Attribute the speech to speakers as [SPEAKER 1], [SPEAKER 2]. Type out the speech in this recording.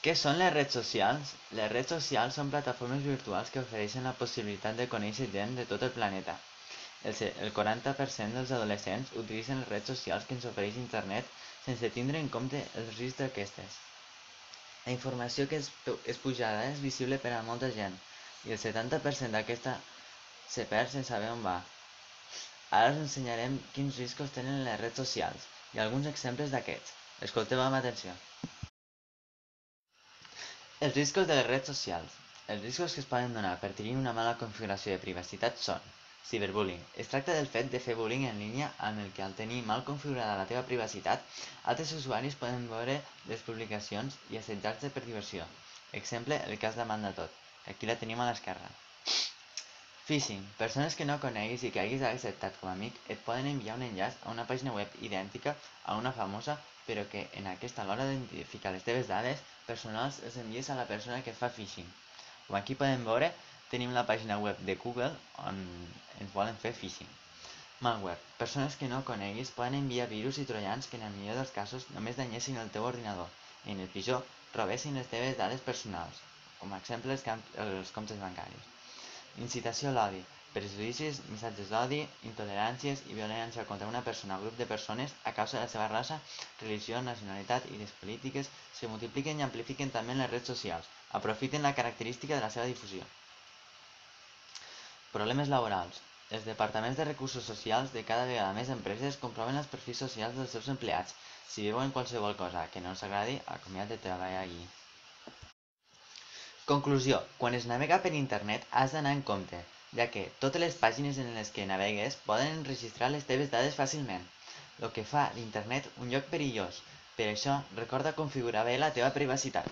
[SPEAKER 1] Què són les redes socials? Les redes socials són plataformes virtuals que ofereixen la possibilitat de conèixer gent de tot el planeta. El 40% dels adolescents utilitzen les redes socials que ens ofereix internet sense tindre en compte els riscs d'aquestes. La informació que és pujada és visible per a molta gent i el 70% d'aquesta se perd sense saber on va. Ara us ensenyarem quins riscos tenen les redes socials i alguns exemples d'aquests. Escolteu amb atenció. Els riscos de les redes socials. Els riscos que es poden donar per tenir una mala configuració de privacitat són ciberbullying. Es tracta del fet de fer bullying en línia amb el que al tenir mal configurada la teva privacitat, altres usuaris poden veure les publicacions i assetjar-te per diversió. Exemple, el cas d'Amanda Todd. Aquí la tenim a l'esquerra. Phishing. Persones que no coneguis i que hagis acceptat com a amic et poden enviar un enllaç a una pàgina web idèntica a una famosa, però que en aquesta a l'hora d'identificar les teves dades personals les envies a la persona que et fa phishing. Com aquí podem veure, tenim la pàgina web de Google on ens volen fer phishing. Malware. Persones que no coneguis poden enviar virus i troians que en el millor dels casos només danyessin el teu ordinador i en el pitjor robessin les teves dades personals, com a exemple els comptes bancaris. Incitació a l'odi. Prejudicis, missatges d'odi, intoleràncies i violència contra una persona o grup de persones a causa de la seva raça, religió, nacionalitat i idees polítiques se multipliquen i amplifiquen també en les redes socials. Aprofiten la característica de la seva difusió. Problemes laborals. Els departaments de recursos socials de cada vegada més empreses comproven els perfils socials dels seus empleats. Si veuen qualsevol cosa que no els agradi, acomiat de treballar allí. Conclusió. Quan es navega per internet has d'anar en compte, ja que totes les pàgines en les que navegues poden enregistrar les teves dades fàcilment, el que fa d'internet un lloc perillós. Per això, recorda configurar bé la teva privacitat.